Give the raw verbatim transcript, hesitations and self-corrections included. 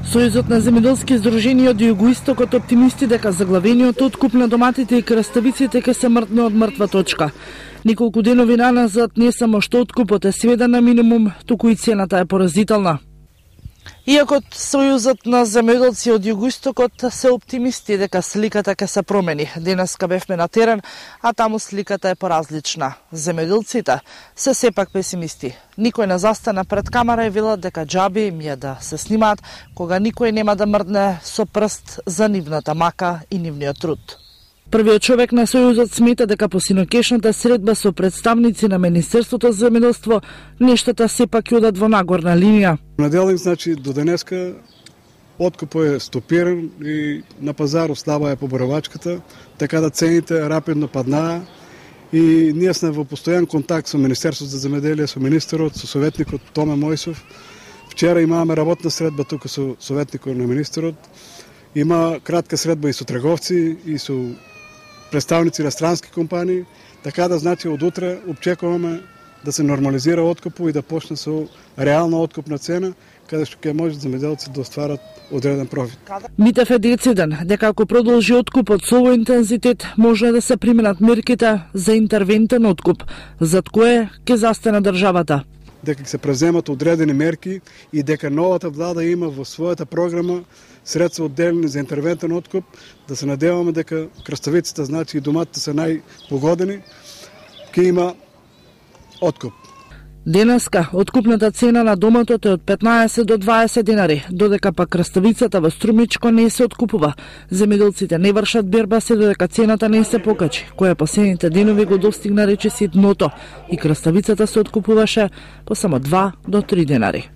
Сојузот на земјоделски здруженија од југоистокот оптимисти дека заглавениот откуп на доматите и краставиците ќе се мртне од мртва точка. Неколку денови наназад не само што откупот е сведен на минимум, туку и цената е поразителна. Иако Сојузот на земјоделци од југоистокот се оптимисти дека сликата ќе се промени. Денеска бевме на терен, а таму сликата е поразлична. Земјоделците се сепак песимисти. Никој не застана пред камера и велат дека џаби им е да се снимаат, кога никој нема да мрдне со прст за нивната мака и нивниот труд. Првиот човек на Сојузот смета дека по синокешната средба со представници на Министерството за земјоделство нештата сепак ќе одат во нагорна линија. Наделник, значи, до денеска откупот е стопиран и на пазар слаба е поборавачката, така да цените рапидно паднаа и ние сме во постојан контакт со Министерството за земјоделие, со министерот, со советникот Томе Мојсов. Вчера имаваме работна средба тука со советникот на министерот. Има кратка средба и со трговци и со представници на странски компании, така да значи од утре очекуваме да се нормализира откупот и да почне со реална откупна цена, каде што ќе може земјоделците да остварат одреден профит. Митев е дециден дека ако продолжи откупот со овој интензитет, може да се применат мерките за интервентен откуп, зад кое ќе застане државата. Дека ќе се преземат одредени мерки и дека новата влада има во својата програма средства одделени за интервентен откуп, да се надеваме дека краставиците, значи и доматите се најпогодени, ќе има откуп. Денеска откупната цена на доматот е од петнаесет до дваесет денари, додека пак краставицата во Струмичко не се откупува. Земјоделците не вршат берба се додека цената не се покачи, која последните денови го достигна речиси дното и краставицата се откупуваше по само два до три денари.